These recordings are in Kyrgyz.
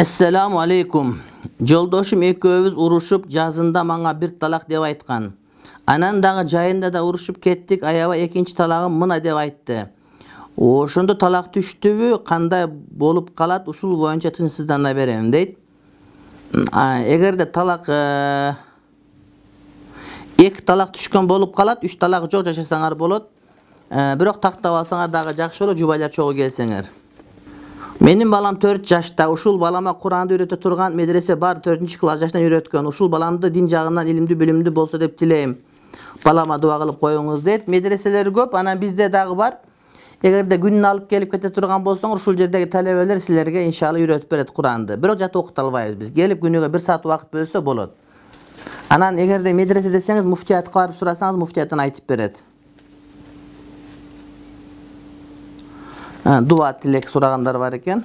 Assalamu alaikum. Жолдошум экөөбүз урушуп, жазында мага бир талак деп айткан. Анан дагы жайында да урушуп кеттик, аябай экинчи талагым мына деп айтты. Ошондо талак түштүбү, кандай болуп калат, ушул боюнча тынчсыздана берем дейт. Эгерде талак эки талак түшкөн болуп калат, 3 талак жок жашасаңар болот. Бирок тактап алсаңар дагы жакшы болот, жубайлар чогуу келсеңер. Менин балам 4 жашта, ушул балама Куранды үйрөтө турган медресе бар, 4-класс жашынан үйрөткөн. Ушул баламды дин жагынан илимдүү, билимдүү болсо деп тилейм. Балама дуа кылып коюңуз дейт. Медреселер көп, анан бизде дагы бар. Эгерде күнүнө алып келип кете турган болсоңор, ушул жердеги талебелер силерге иншалла үйрөтүп берет Куранды. Бирок жата окута албайбыз биз. Келип күнүгө 1 саат убакыт бөлсө болот. Анан эгерде медресе десеңиз, муфтиятка барып сурасаңыз, муфтияттан айтып берет. Дуа тилек сурагандар бар экен.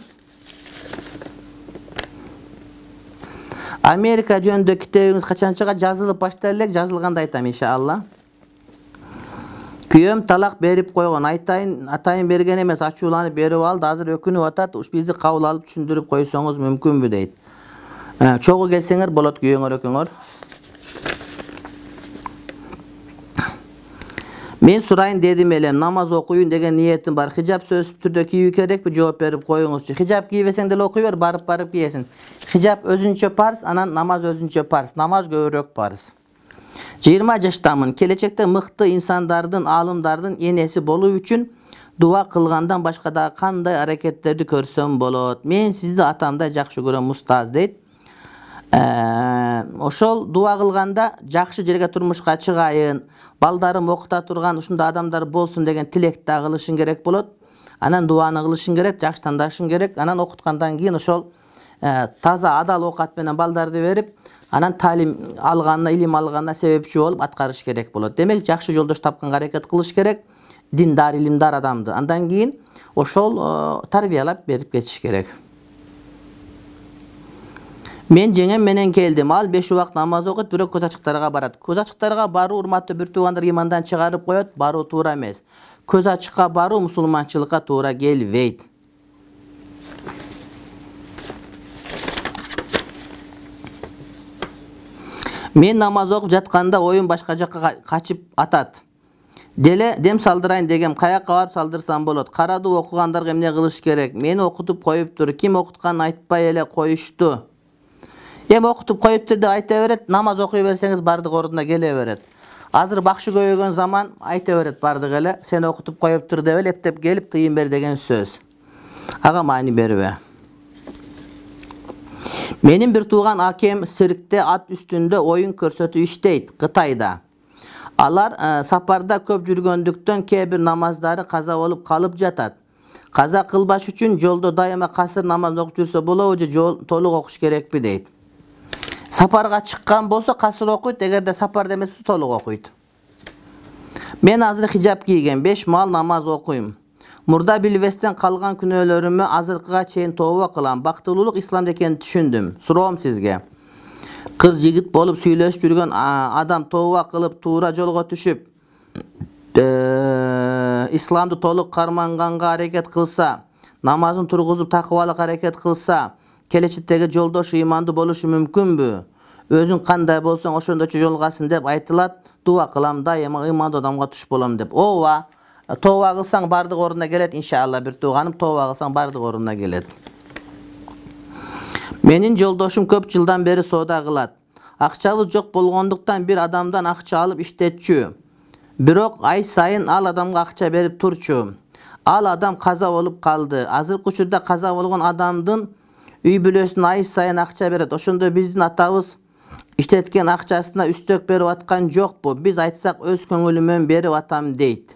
Америка жөнүндө китебиңиз качан чыгат? Жазылып баштай элек, жазылганда айтам иншалла. Күйөөм талак берип койгон. Атайын берген эмес, ачууланып берип алды. Азыр өкүнүп атат. Бизди кабыл алып түшүндүрүп койсоңуз мүмкүнбү дейт. Чогуу келсеңер болот күйөөңөр экөөңөр. Мен сурайын дедим элем, намаз окуйун деген ниетим бар. Хижап сөзсүз түрдө кийүү керекпи? Жооп берип коюңузчу. Хижап кийбесең деле окуй бер, барып кийесиң. Хижап өзүнчө парз, анан намаз өзүнчө парз. Намаз көбүрөөк парз. 20 жаштамын. Келечекте мыкты инсандардын, аалымдардын энеси болуу үчүн дуа кылгандан башка дагы кандай аракеттерди көрсөм болот? Мен сизди атамдай жакшы көрөм, устаз дейт. Ошол дуа кылганда жакшы жерге турмушка чыгайын, балдарым окута турган ушундай адамдар болсун деген тилекти да кылышың керек болот. Анан дуаны кылышың керек, жакшы тандашың керек. Анан окуткандан кийин ошол таза адал оокат менен балдарды берип, анан талим алганына, илим алганына себепчи болуп аткарыш керек болот. Демек, жакшы жолдош тапканга аракет кылыш керек, диндар, илимдар адамды. Андан кийин ошол тарбиялап берип кетиш керек. Мен жеңем менен келдим. Ал 5 убакыт намаз окуйт, бирок көз ачыктарга барат. Көз ачыктарга баруу урматтуу бир туугандар имандан чыгарып коет, баруу туура эмес. Көз ачыкка баруу мусулманчылыкка туура келбейт. Мен намаз окуп жатканда оюм башка жакка качып атат. Деле дем салдырайын дегем, каяка барып салдырсам болот? Карадуу окугандарга эмне кылыш керек? Мени окутуп коюптур, ким окутканын айтпай эле коюшту. Эми окутуп коюптур деп айта берет, намаз окуй берсеңиз бардык ордуна келе берет. Азыр бакшы көбөйгөн заман, айта берет бардык эле, сени окутуп коюптур деп эле эптеп келип тыйын бер деген сөз. Ага маани бербе. Менин бир тууган акем циркте ат үстүндө оюн көрсөтүп иштейт, Кытайда. Алар сапарда көп жүргөндүктөн кээ бир намаздары каза болуп калып жатат. Каза кылбаш үчүн жолдо дайыма касыр намаз окуп жүрсө болобу же толук окуш керекпи дейт. Сапарга чыккан болсо касыр окуйт, эгерде сапарда эмес болсо толук окуйт. Мен азыр хижап кийген, 5 маал намаз окуйм. Мурда билбестен калган күнөөлөрүмө азыркыга чейин тооба кылам. Бактылуулук исламда экенин түшүндүм. Суроом сизге. Кыз жигит болуп сүйлөшүп жүргөн адам тооба кылып туура жолго түшүп, исламды толук карманганга аракет кылса, намазын тургузуп такыбалык аракет кылса, келечектеги жолдошу имандуу болушу мүмкүнбү? Өзүң кандай болсоң ошондочо жолгасың деп айтылат. Дуа кылам, дайыма имандуу адамга туш болом деп. Ооба, тооба кылсаң бардык ордуна келет иншалла, бир тууганым, тооба кылсаң бардык ордуна келет. Менин жолдошум көп жылдан бери соода кылат. Акчабыз жок болгондуктан бир адамдан акча алып иштетчү. Бирок ай сайын ал адамга акча берип турчу. Ал адам каза болуп калды. Азыркы учурда каза болгон адамдын үй бүлөсүнө ай сайын акча берет. Ошондо биздин атабыз иштеткен акчасына үстөк берип аткан жокпу? Биз айтсак өз көңүлүмөн берип атам дейт.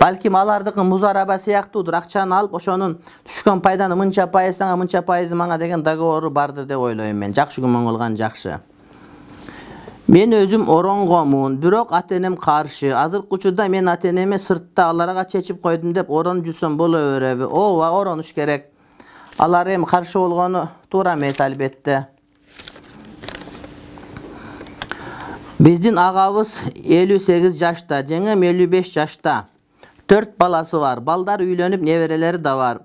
Балким алардыкы музараба сыяктуудур. Акчаны алып, ошонун түшкөн пайданы мынча пайыз сага, мынча пайызы мага деген договору бардыр деп ойлойм мен. Жакшы күмөн кылган жакшы. Мен өзүм оронгомун, бирок ата-энем каршы. Азыркы учурда мен ата-энеме сыртта аларга чечип койдум деп оронуп жүрсөм боло береби? Ооба, оронуш керек. Алар эми каршы болгону туура эмес албетте. Биздин агабыз 58 жашта, жеңем 55 жашта. 4 баласы бар. Балдар үйлөнүп, неберелери да бар.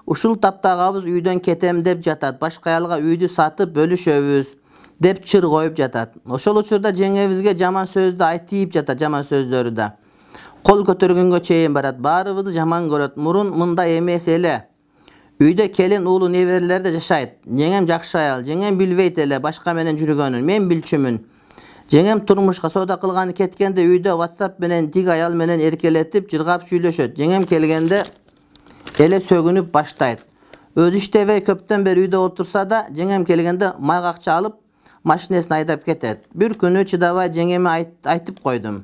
Ушул таптагабыз үйдөн кетем деп жатат. Башка аялга үйдү сатып бөлүшөбүз деп чыр коюп жатат. Ошол учурда жеңебизге жаман сөздү айтып жатат, жаман сөздөрү да. Кол көтөргөнгө чейин барат. Баарыбызды жаман көрөт. Мурун мындай эмес эле. Үйдө келин, уулу, неберелер да жашайт. Жеңем жакшы аял. Жеңем билбейт эле башка менен жүргөнүн. Мен билчүмүн. Жеңем турмушка соода кылганы кеткенде үйдө WhatsApp менен тиг аял менен эркелетип, жыргап сүйлөшөт. Жеңем келгенде эле сөгүнүп баштайт. Өзү иштебей көптөн бери үйдө отурса да, жеңем келгенде майга акча алып, машинесин айдап кетет. Бир күнү чыдабай жеңеме айтып койдум.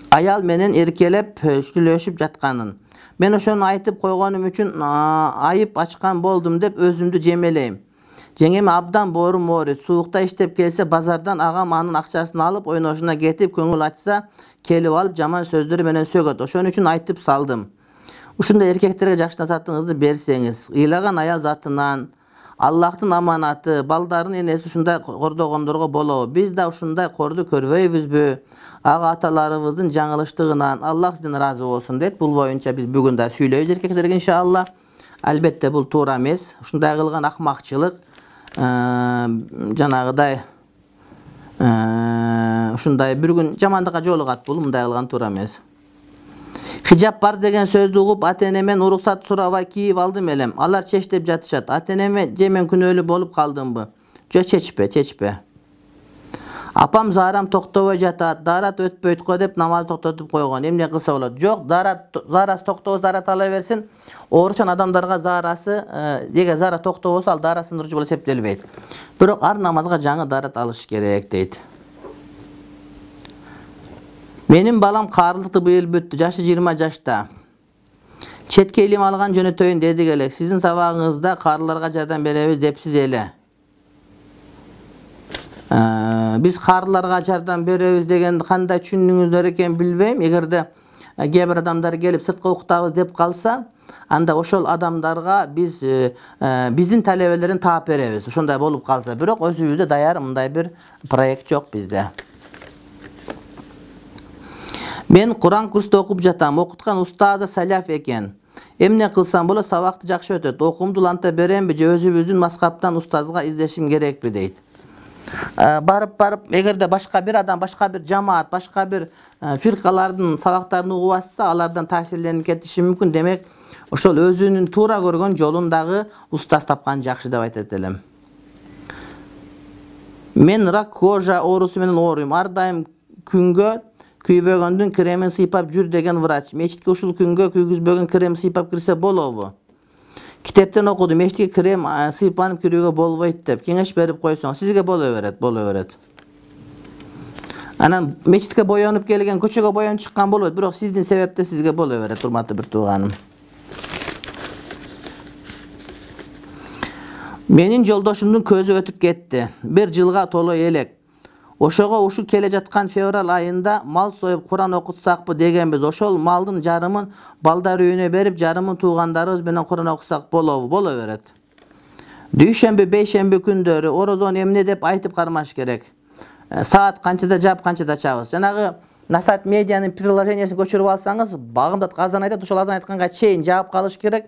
Аял менен эркелеп сүйлөшүп жатканын. Мен ошону айтып койгонум үчүн айып ачкан болдум деп өзүмдү жемелейм. Жеңеме абдан боорум ооруйт. Суукта иштеп келсе базардан агам анын акчасын алып, ойношуна кетип, көңүл ачса, келип алып жаман сөздөр менен сөгөт. Ошон үчүн айтып салдым. Ушундай эркектерге жакшы насаатыңызды берсеңиз, ыйлаган аял затынан, Аллахтын аманаты, балдардын энеси ушундай кордогондорго болобу? Биз да ушундай корду көрбөйбүзбү? Ага аталарыбыздын жаңылыштыгынан Аллах сизден ыраазы болсун дейт. Бул боюнча биз бүгүн да сүйлөйбүз эркектерге иншалла. Албетте бул туура эмес. Ушундай кылган акмакчылык, жанагыдай ушундай бир күн жамандыкка жолугат. Бул мындай кылган туура эмес. Хижап бар деген сөздү угуп, ата-энемен уруксат сурабай кийип алдым элем. Алар чеч деп жатышат. Ата-энеме же мен күнөөлүү болуп калдымбы? Жок, чечпе. Апам заарам токтобой жатат, дарат өтпөйт го деп намаз токтотуп койгон. Эмне кылса болот? Жок, заарасы токтобосо дарат ала берсин. Ооручан адамдарга заарасы, эге заара токтобосо ал дара сындыруучу болуп эсептелбейт. Бирок ар намазга жаңы дарат алыш керек дейт. Менин балам каарылыкты быйыл бүттү. Жашы 20 жашта. Четке илим алган жөнөтөйүн дедик элек. Сиздин сабагыңызда каарыларга жардам беребиз депсиз эле. Биз каарыларга жардам беребиз дегенди кандай түшүндүңүздөр экен билбейм. Эгерде кээ бир адамдар келип сыртка уктабыз деп калса, анда ошол адамдарга биз биздин талебелерин таап беребиз. Ошондой болуп калса, бирок өзүбүздө даяр мындай бир проект жок бизде. Мен Куран курста окуп жатам. Окуткан устазы саляф экен. Эмне кылсам болот? Сабакты жакшы өтөт. Окуумду уланта беремби же өзүбүздүн мазхабтан устазга издешим керекпи дейт. Барып, эгерде башка бир адам, башка бир жамаат, башка бир фиркалардын сабактарын угуп атса, алардан таасирленип кетиши мүмкүн. Демек, ошол өзүнүн туура көргөн жолун дагы устаз тапкан жакшы деп айтат элем. Мен рак кожа оорусу менен ооруйм. Ар дайым күнгө күйбөгөндүн кремин сыйпап жүр деген врач. Мечитке ушул күнгө күйгүзбөгөн крем сыйпап кирсе болобу? Китептен окудум, мечитке крем сыйпанып кирүүгө болбойт деп. Кеңеш берип койсоң, сизге боло берет. Анан мечитке боёнуп келген, көчөгө боёнуп чыккан болбойт, бирок сиздин себепте сизге боло берет, урматтуу бир тууганым. Менин жолдошумдун көзү өтүп кетти. 1 жылга толой элек. Ошого ушу келе жаткан февраль айында мал союп Куран окутсакпы дегенбиз. Ошол малдын жарымын балдар үйүнө берип, жарымын туугандарыбыз менен Куран окусак болобу? Боло берет. Дүйшөмбү, бейшемби күндөрү орозону эмне деп айтып кармаш керек. Саат канчада жаап, канчада ачабыз. Жанагы Насат медианын приложениясын көчүрүп алсаңыз, багымда азан айтат, ошол азан айтканга чейин жаап калыш керек.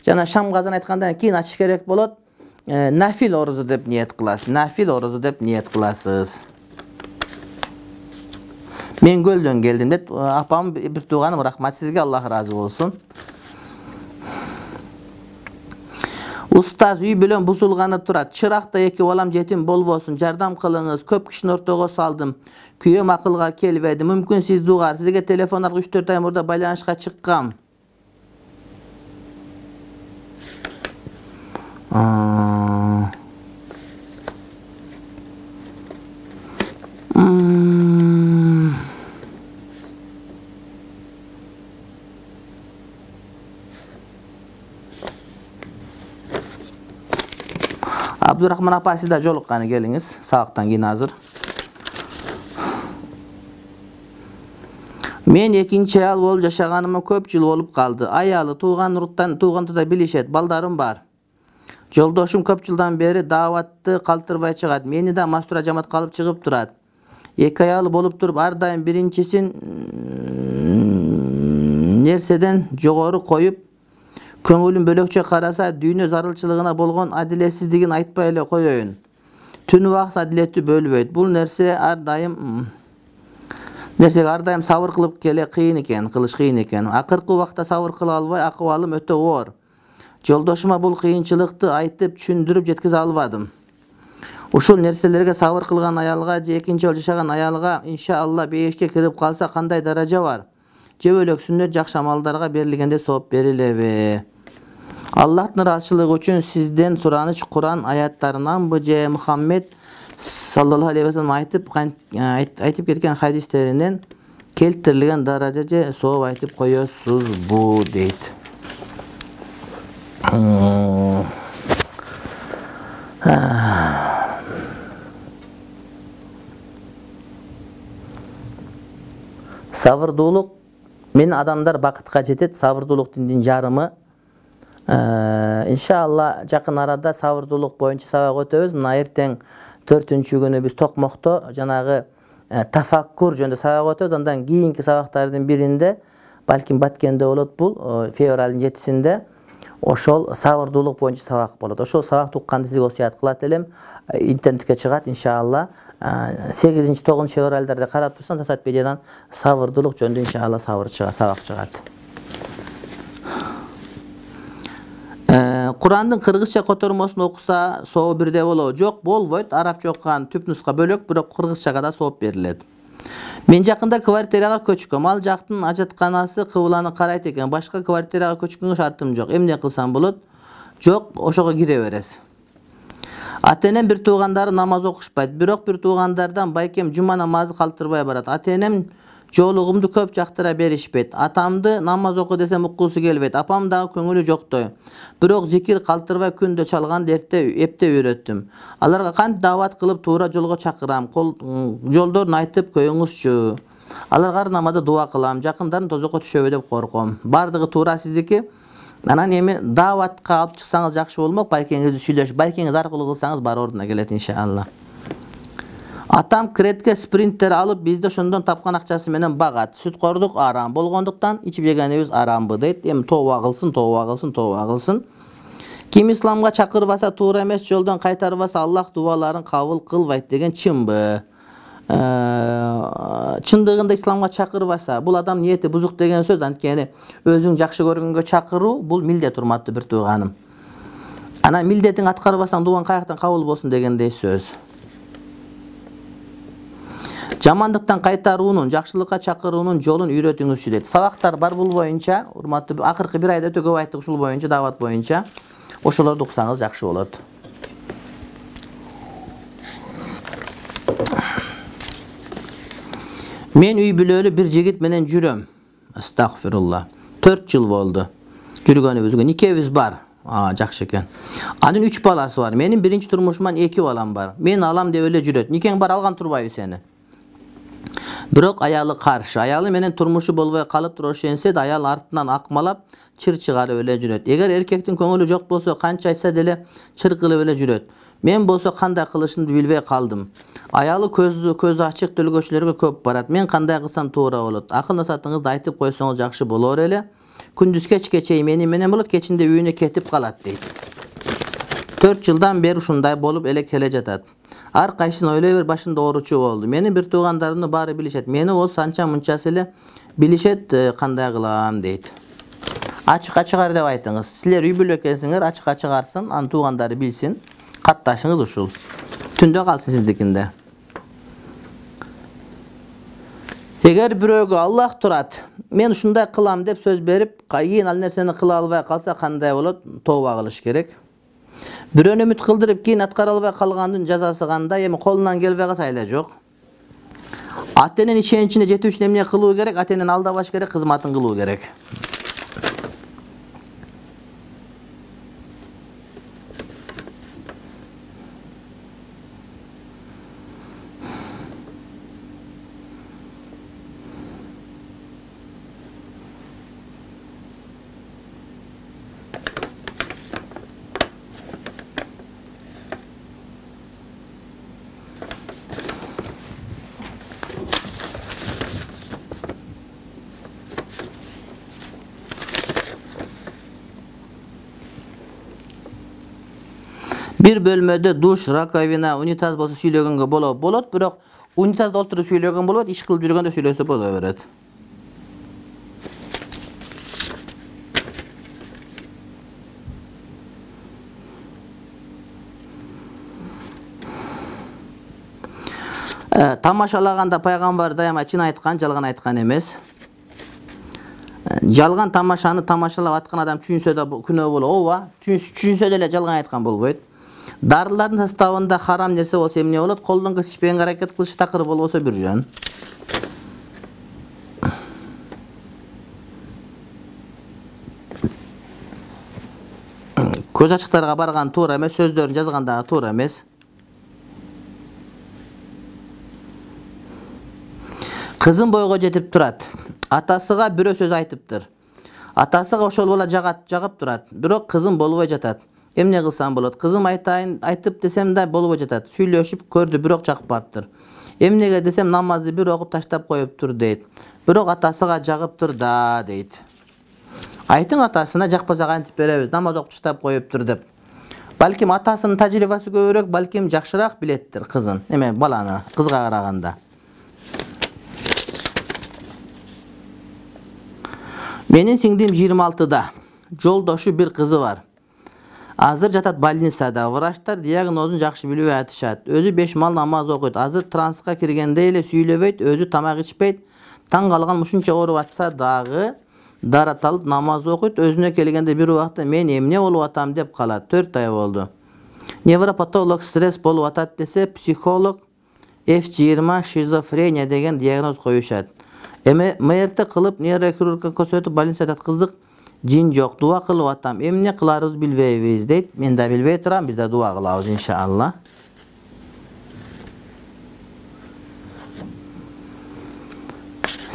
Жана шам азан айткандан кийин ачыш керек болот. Нафил орозо деп ниет кыласыз. Мен көлдөн келдим деп, апам бир тууганым, рахмат сизге, Аллах ыраазы болсун. Устаз үй бүлөм бузулганы турат. Чыракта 2 балам жетим болбосун, жардам кылыңыз. Көп кишини ортого салдым. Күйөөм акылга келбеди. Мүмкүн сиз дугар. Сизге телефон аркылуу 3-4 ай мурда байланышка чыккам. Абдурахман апа, сиз да жолукканы келиңиз. Сабактан кийин азыр. Мен экинчи аял болуп жашаганыма көп жыл болуп калды. Аялы туугандарды билишет, балдарым бар. Жолдошум көп жылдан бери дааватты калтырбай чыгат. Мени да мастура жамат калып чыгып турат. 2 аялы болуп туруп, ар дайым биринчисин нерседен жогору коюп, Көңүлүн бөлөкчө караса, дүйнө зарылчылыгына болгон адилетсиздигин айтпай эле коеюн. Түн убак адилети бөлбөйт. Бул нерсеге ар дайым сабыр кылып кылыш кыйын экен. Акыркы убакта сабыр кыла албай, акыбалым өтө оор. Жолдошума бул кыйынчылыкты айтып, түшүндүрүп жеткизе албадым. Ушул нерселерге сабыр кылган аялга же экинчи жолу жашаган аялга иншалла бейишке кирип калса кандай даража бар? Же бөлөк сүннөт жакшы амалдарга берилгенде сооп берилеби? Аллахтын ыраазычылыгы үчүн сизден сураныч Куран аяттарынанбы же Мухаммед саллаллаху алейхи ва саллям айтып кеткен хадистеринен келтирилген даража же сооп айтып коесузбу дейт. Сабырдуулук мен адамдар бакытка жетет. Сабырдуулук диндин жарымы. Иншалла жакын арада сабырдуулук боюнча сабак өтөбүз. Мына эртең 4-күнү биз Токмокто жанагы тафаккур жөнүндө сабак өтөбүз. Андан кийинки сабактардын биринде, балким Баткенде болот, бул февралдын 7-синде ошол сабырдуулук боюнча сабак болот. Ошол сабакты укканды сизге осуят кылат элем. Интернетке чыгат иншалла. 8-9 февралдарда карап турсаң Сасат медиадан сабырдуулук жөнүндө иншалла сабак чыгат. Курандын кыргызча котормосун окуса соо бирдей болобу? Жок, болбойт. Арабча окуган түп нуска бөлөк, бирок кыргызчага да сооп берилет. Мен жакында квартирага көчкөм. Ал жактын ажатканасы кыбланы карайт экен. Башка квартирага көчкөнгө шартым жок. Эмне кылсам болот? Жок, ошого кире бересиз. Ата-энем бир туугандары намаз окушпайт, бирок бир туугандардан байкем жума намазы калтырбай барат. Ата-энем жоолугумду көп жактыра беришпейт. Атамды намаз оку десем уккусу келбейт. Апам дагы көңүлү жоктой. Бирок зикир калтырбай күндө чалганды эптеп үйрөттүм. Аларга кантип даават кылып туура жолго чакырам, жолдорун айтып коюңузчу. Аларга ар намазда дуа кылам, жакындарын тозокко түшөбү деп корком. Бардыгы туура сиздики. Анан эми дааватка алып чыксаңыз жакшы болмок, байкеңизди сүйлөшүп, байкеңиз аркылуу кылсаңыз бар ордуна келет иншалла. Атам кредитке спринтер алып, бизди ошондон тапкан акчасы менен багат. Сүткордук арам болгондуктан ичип жегенибиз арамбы дейт. Эми тооба кылсын. Ким исламга чакырбаса, туура эмес жолдон кайтарбаса, Аллах дубаларын кабыл кылбайт деген чынбы? Чындыгында исламга чакырбаса, бул адам ниети бузук деген сөз. Анткени өзүң жакшы көргөнгө чакыруу бул милдет, урматтуу бир тууганым. Анан милдетиң аткарбасаң, дуаң каяктан кабыл болсун дегендей сөз. Жамандыктан кайтаруунун, жакшылыкка чакыруунун жолун үйрөтүңүзчү дейт. Сабактар бар бул боюнча, урматтуу, акыркы бир айда өтө көп айттык ушул боюнча, даават боюнча. Ошолорду уксаңыз жакшы болот. Мен үй бүлөлүү бир жигит менен жүрөм. Астагфирулла. 4 жыл болду. Жүргөнүбүзгө никебиз бар. Жакшы экен. Анын 3 баласы бар. Менин биринчи турмушуман 2 балам бар. Мен алам деп эле жүрөт. Никең бар, алган турбайбы сени? Бирок аялы каршы. Аялы менен турмушу болбой калып турошенсе да, аял артынан акмалап, чыр чыгарып эле жүрөт. Эгер эркектин көңүлү жок болсо, канча айтса деле чыр кылып эле жүрөт. Мен болсо кандай кылышымды билбей калдым. Аялы көзү ачык төлгөчүлөргө көп барат. Мен кандай кылсам туура болот? Акыл насаатыңызды айтып койсоңуз жакшы болор эле. Күндүз кечке чейин менен болот, кечинде үйүнө кетип калат дейт. 4 жылдан бери ушундай болуп эле келе жатат. Ар кайсысын ойлой бер, башымда ооручу болду. Менин бир туугандарымды баары билишет. Мени болсо анча мынчасы эле билишет, кандай кылам дейт. Ачыкка чыгар деп айтыңыз. Силер үй бүлө экенсиңер, ачыкка чыгарсын, анын туугандары билсин. Катташыңыз ушул. Түндө калсын сиздикинде. Эгер бирөөгө Аллах турат, мен ушундай кылам деп сөз берип, кийин ал нерсени кыла албай калса кандай болот? Тооба кылыш керек. Бирөөнү үмүт кылдырып, кийин аткара албай калгандын жазасы кандай? Эми колунан келбей калса айла жок. Ата-эненин ишеничине жетүү үчүн эмне кылуу керек? Ата-энени алдабаш керек, кызматын кылуу керек. Bir bölmödө душ, раковина, унитаз болсо сүйлөгөнгө болот, бирок унитазда отуруп сүйлөгөн болбойт, иш кылып жүргөндө сүйлөсө боло берет. Тамашалаганда пайгамбар дайыма чын айткан, жалган айткан эмес. Жалган тамашаны тамашалап аткан адам түшүнсө да күнөө болот. Ооба, түшүнсө деле жалган айткан болбойт. Дарылардын составында харам нерсе болсо эмне болот? Колдон келишпегенге аракет кылышы такыр болбосо бир жөн. Көз ачыктарга барган туура эмес, сөздөрүн жазганда туура эмес. Кызым бойго жетип турат. Атасыга бирөө сөз айтыптыр. Атасыга ошол бала жагып турат, бирок кызым болбой жатат. Эмне кылсам болот? Кызым айтып десем да болбой жатат. Сүйлөшүп көрдү, бирок жакпаптыр. Эмнеге десем намазды бир окуп таштап коюптур дейт. Бирок атасыга жагыптыр да дейт. Айтың атасына жакпаса кантип беребиз? Намаз окуп таштап коюптур деп. Балким атасынын тажрыйбасы көбүрөөк, балким жакшыраак билеттир кызын. Эме баланы кызга караганда. Менин сиңдим 26-да. Жолдошу бир кызы бар. Азыр жатат больницада. Врачтар диагнозун жакшы билбей атышат. Өзү 5 мал намаз окуйт. Азыр транска киргенде эле сүйлөбөйт, өзү тамак ичпейт. Таң калган ушунча ооруп атса дагы дарат алып намаз окуйт. Өзүнө келгенде бир убакта мен эмне болуп атам деп калат. 4 ай болду. Невропатолог стресс болуп атат десе, психолог F20 шизофрения деген диагноз коюшат. МРТ кылып, нейрохирургка көрсөтүп больницада жаткыздык. Жин жок, дуа кылып атам. Эмне кыларыбыз билбейбиз дейт. Мен да билбей турам, биз да дуа кылабыз иншалла.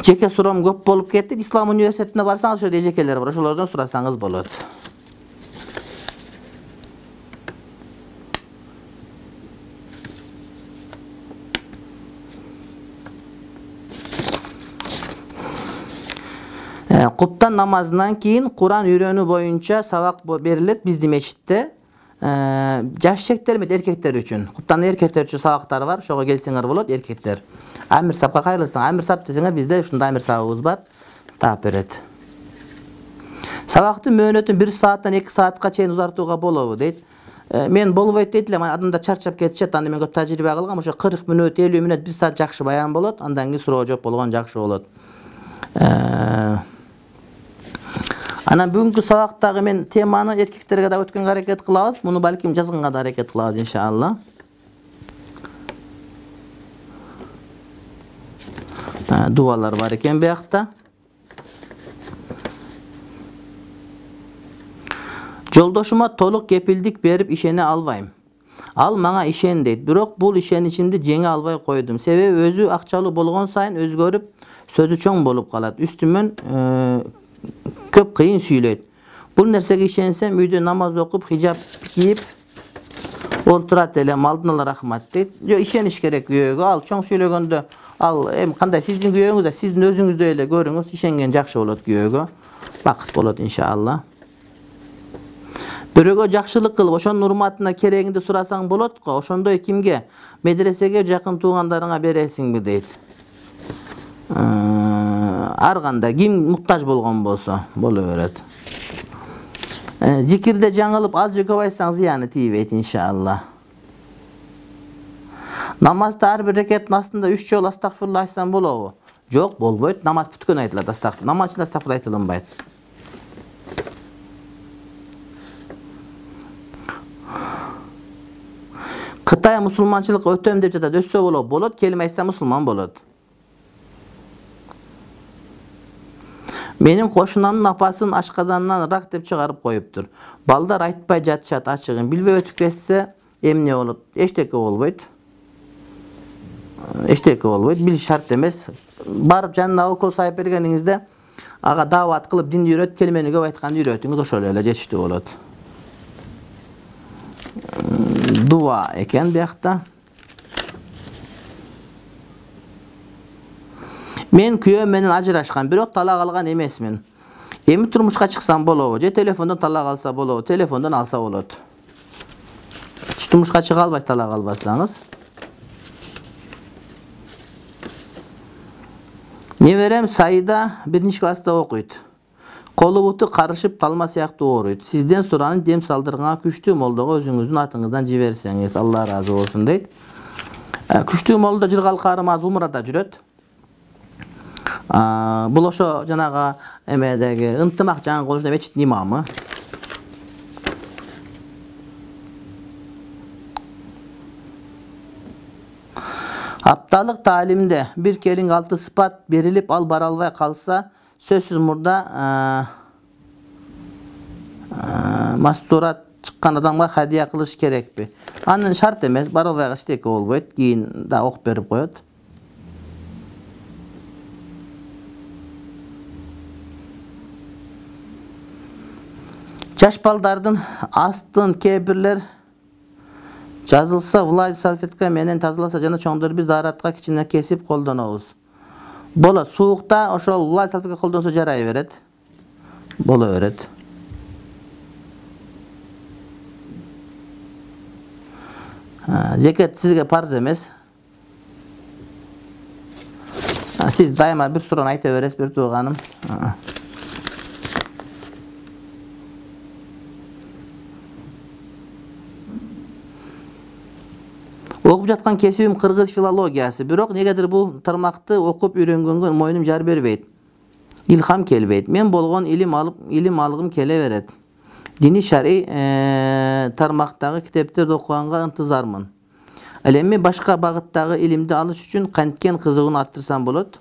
Жеке суроом көп болуп кетти. Ислам университетине барсаңыз, ошо эжекелер бар, ошолордон сурасаңыз болот. Куптан намазынан кийин Куран үйрөнүү боюнча сабак берилет биздин мечитте. Жаш шектер эмес, эркектер үчүн. Куптан эркектер үчүн сабактар бар, ошого келсеңер болот, эркектер. Амир сапка кайрылсаң, Амир сап десеңер, бизде ушундай Амир сабыбыз бар. Таап берет. Сабактын мөөнөтүн 1 сааттан 2 саатка чейин узартууга болобу дейт. Мен болбойт дейт элем, адамдар чарчап кетишет, аны мен көп тажрыйба кылгам, ошо 40 мүнөт, 50 мүнөт, 1 саат жакшы баян болот, андан кийин суроо жооп болгон жакшы болот. Анан бүгүнкү сабактагы мен теманы эркектерге да өткөнгө аракет кылабыз. Муну балким жазганга да аракет кылабыз иншалла. Дуалар бар экен биякта. Жолдошума толук кепилдик берип ишене албайм. Ал мага ишен дейт. Бирок бул ишеничимди жеңе албай койдум. Себеби өзү акчалуу болгон сайын өзгөрүп, сөзү чоң болуп калат. Үстүмөн көп кыйын сүйлөйт. Бул нерсеге ишенсем, үйдө намаз окуп, хижап кийип отурат элем, алдын ала рахмат дейт. Жок, ишениш керек күйөөгө. Ал чоң сүйлөгөндө, ал кандай сиздин күйөөңүз да сиздин өзүңүздөй эле көрүңүз, ишенген жакшы болот күйөөгө. Бакыт болот иншалла. Бирөөгө жакшылык кылып, ошонун урматына керегинде сурасаң болот го. Ошондой кимге? Медресеге, жакын туугандарыңа бересиңби дейт. Ар кандай ким муктаж болгон болсо боло берет. Зикирде жаңылып аз же көп айтсаң зыяны тийбейт иншалла. Намазда ар бир рекеттин астында 3 жолу астагфирулла айтсаң болобу? Жок, болбойт. Намаз бүткөн айтылат астагфир. Намаз ичинде астагфир айтылынбайт. Кытай мусулманчылыкка өтөм деп жатат. Өтсө болот, болот. Келме айтса мусулман болот. Менин кошунамдын апасын ашказанынан рак деп чыгарып коюптур. Балдар айтпай жатышат ачыгын. Билбей өтүп кетсе эмне болот? Эчтеке болбойт. Эчтеке болбойт. Билиш шарт эмес. Барып жанына укол сайып бергениңизде ага даават кылып динди үйрөт, келмени көп айтканды үйрөтүңүз, ошол эле жетиштүү болот. Дуа экен биякта. Мен күйөөм менен ажырашкан, бирок талак алган эмесмин. Эми турмушка чыксам болобу? Же телефондон талак алса болобу? Телефондон алса болот. Турмушка чыга албайсыз талак албасаңыз. Неберем Сайда 1-класста окуйт. Колу буту карышып талма сыяктуу ооруйт. Сизден суранын дем салдырганга күчтүү молдого өзүңүздүн атыңыздан жиберсеңиз, Алла ыраазы болсун дейт. Күчтүү молдо жыргал карым аз умрада жүрөт. Бул ошо жанагы эмедеги ынтымак жаңы колушта мечиттин имамы. Апталык таалимде бир келиң 6 сыпат берилип, ал бара албай калса, сөзсүз мурда мастурат чыккан адамга хадия кылыш керекпи? Анын шарт эмес, бара албай калса эчтеке болбойт, кийин да окуп берип коет. Жаш балдардын астын кээ-бирлер жазылса, влажный салфетка менен тазаласа жана чоңдор биз дааратка кичине кесип колдонобуз. Болот, суукта ошол влажный салфетка колдонсо жарай берет. Боло берет. Зекет сизге парз эмес. Сиз дайыма бир суроonu айта бересиз, бир тууганым. Окуп жаткан кесибим кыргыз филологиясы, бирок негедир бул тармакты окуп үйрөнгөнгө мойнум жар бербейт. Илхам келбейт. Мен болгон илим алгым келе берет. Дини шарий тармактагы китептерди окуганга ынтызармын. Ал эми башка багыттагы илимди алыш үчүн канткен кызыгууну арттырсам болот?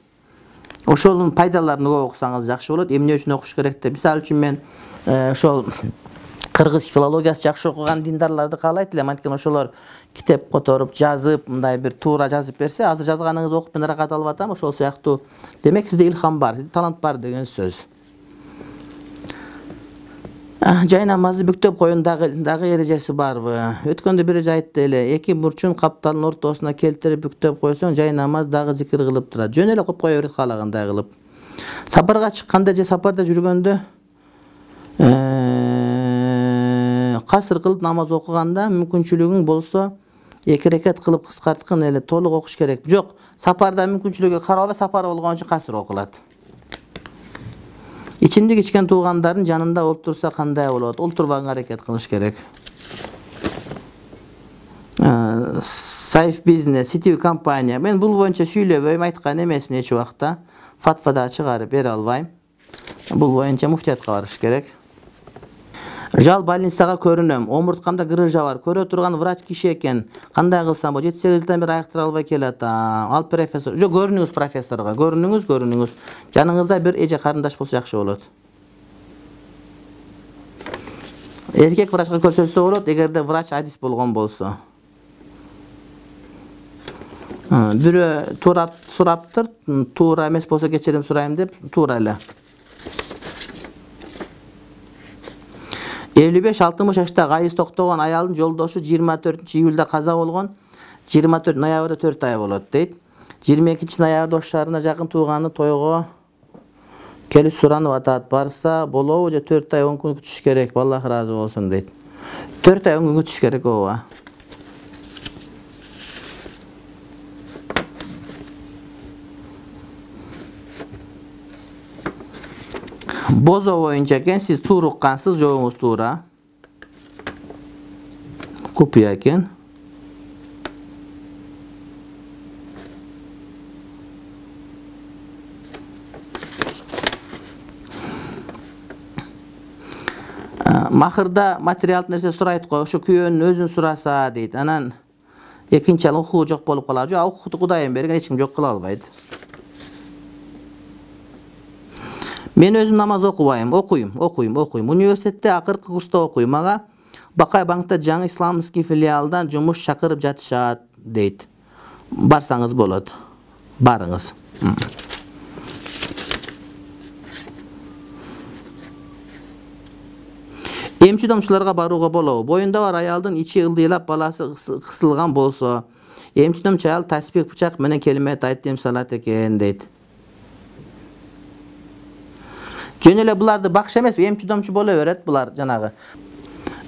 Ошонун пайдаларын окусаңыз жакшы болот. Эмне үчүн окуш керек деп. Мисалы үчүн мен ошол кыргыз филологиясы жакшы окуган диндарларды каалайт элем. Анткени ошолор китеп которуп, жазып, мындай бир туура жазып берсе, азыр жазганыңызды окуп мен ырахат алып атам, ошол сыяктуу. Демек сизде илхам бар, сизде талант бар деген сөз. Жай намазды бүктөп коюн дагы эрежеси барбы? Өткөндө бир айтты эле, эки бурчун капталдын ортосуна келтирип бүктөп койсоң, жай намаз дагы зикир кылып турат. Жөн эле окуп кое берет каалагандай кылып. Сапарга чыкканда же сапарда жүргөндө касыр кылып намаз окуганда мүмкүнчүлүгүң болсо 2 рекат кылып кыскарткын эле, толук окуш керек. Жок, сапарда мүмкүнчүлүгү каралбай сапар болгон үчүн касыр окулат. Ичимдик ичкен туугандардын жанында олтурса кандай болот? Олтурбаганга аракет кылыш керек. Сайф бизнес, сетевой компания. Мен бул боюнча сүйлөбөйм, айткан эмесмин эч убакта. Фатва да чыгарып бере албайм. Бул боюнча муфтиятка барыш керек. Жал больницага көрүнөм. Омурткамда грыжа бар. Көрө турган врач киши экен. Кандай кылсам болот? 7-8 жылдан бери айыктыра албай келатам. Ал профессор. Жок, көрүнүңүз профессорго. Көрүнүңүз. Жаныңызда бир эже карындаш болсо жакшы болот. Эркек врачка көрсөтсө болот, эгерде врач адис болгон болсо. Бирөө сураптыр, туура эмес болсо кечирим сурайм деп, туура эле. 55-60 жашта кайыз токтогон аялдын жолдошу 24-июлда каза болгон. 24 ноябрда 4 ай болот дейт. 22 ноябрда Ош шаарына жакын тууганы тойго келип суранып атат. Барса болобу же 4 ай 10 күн күтүш керек? Аллах ыраазы болсун дейт. 4 ай 10 күн күтүш керек ооба. Бозо боюнча экен, сиз туура уккансыз, жообуңуз туура. Купуя экен. Махырда материалдык нерсе сурайт го, ошо күйөөнүн өзүн сураса дейт. Анан экинчи ал укугу жок болуп калат. Жок, укукту Кудайым берген, эч ким жок кыла албайт. Мен өзүм намаз окубайм, окуйм. Университетте акыркы курста окуйм. Ага Бакай банкта жаңы исламский филиалдан жумуш чакырып жатышат дейт. Барсаңыз болот. Барыңыз. Эмчи домчуларга барууга болобу? Боюнда бар аялдын ичи ылдыйлап баласы кысылган болсо, эмчи домчу аял таспих бычак менен келимет айтып салат экен дейт. Жөн эле буларды бакша эмес, эмчи домчу боло берет булар жанагы.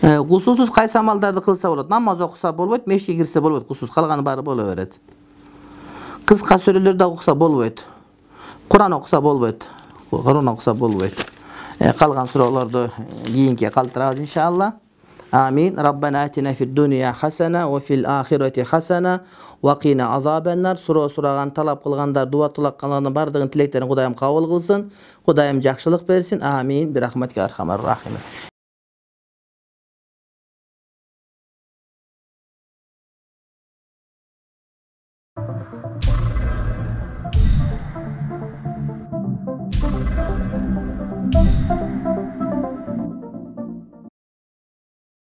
Кусусуз кайсы амалдарды кылса болот? Намаз окуса болбойт, мешитке кирсе болбойт, кусус, калганы баары боло берет. Кыска сүрөлөрдү окуса болбойт. Куран окуса болбойт. Куран окуса болбойт. Калган суроолорду кийинке калтырабыз иншалла. Амин. Раббана атина фид дуния хасана ва фил ахирати хасана ва кина азабаннар. Суроо сураган, талап кылгандар, дуа тылаккандардын бардыгын тилектерин Кудайым кабыл кылсын. Кудайым жакшылык берсин. Амин. Бирахматика архамар рахим.